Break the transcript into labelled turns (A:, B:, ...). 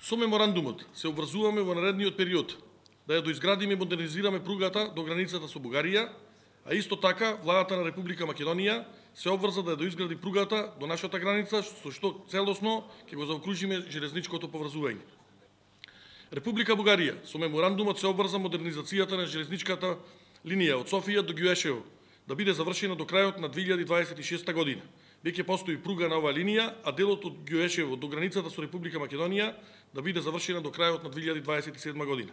A: Со меморандумот се обврзуваме во наредниот период да ја доизградиме и модернизираме пругата до границата со Бугарија, а исто така владата на Република Македонија се обврза да ја доизгради пругата до нашата граница, со што целосно ќе го заокружиме железничкото поврзување. Република Бугарија со меморандумот се обврза модернизацијата на железничката линија од Софија до Ѓуешево да биде завршена до крајот на 2026 година. Веќе постои пруга на оваа линија, а делот од Ѓуешево до границата со Република Македонија да биде завршена до крајот на 2027 година.